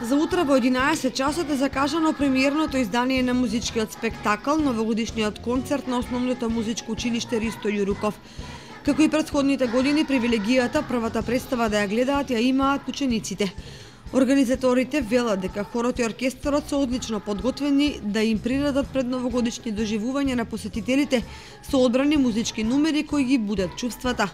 За утре во 11 часот е закажано премиерното издание на музичкиот спектакл, новогодишниот концерт на Основното музичко училиште Ристо Јуруков. Како и претходните години, привилегијата првата представа да ја гледаат ја имаат учениците. Организаторите велат дека хорот и оркестарот се одлично подготвени да им приредат пред новогодишни доживувања на посетителите со одбрани музички numери кои ги будат чувствата.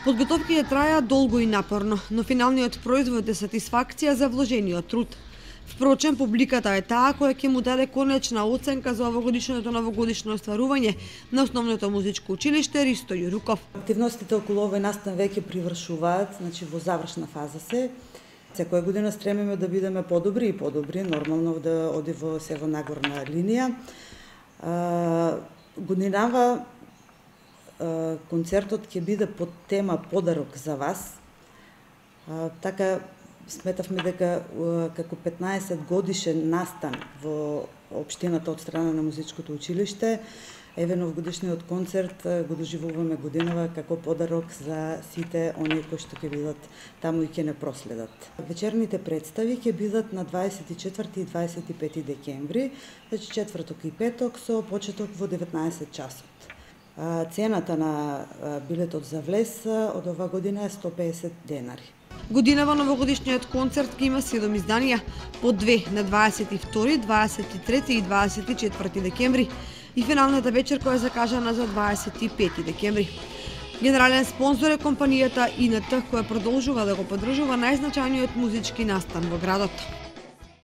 Подготовките траја долго и напорно, но финалниот производ е сатисфакција за вложениот труд. Впрочем, публиката е таа која ќе му даде конечна оценка за овогодишното новогодишно остварување на Основното музичко училиште Ристо Јуруков. Активностите околу овој настан веќе привршуваат, значи во завршна фаза се. Секоја година стремиме да бидеме подобри и подобри, нормално да оди во нагорна линија. Годинава концертот ќе биде под тема Подарок за вас. Така сметавме дека како 15 годишен настан во општината од страна на музичкото училиште, еве новогодишниот концерт го доживуваме годинава како подарок за сите оние кои што ќе бидат таму и ќе не проследат. Вечерните представи ќе бидат на 24 и 25 декември, значи четврток и петок со почеток во 19 часот. Цената на билетот за влез од ова година е 150 денари. Годинава новогодишниот концерт ќе има 7 изданија, по 2 на 22, 23 и 24 декември и финалната вечер која е закажана за 25 декември. Генерален спонзор е компанијата ИНТ која продолжува да го поддржува најзначајниот музички настан во градот.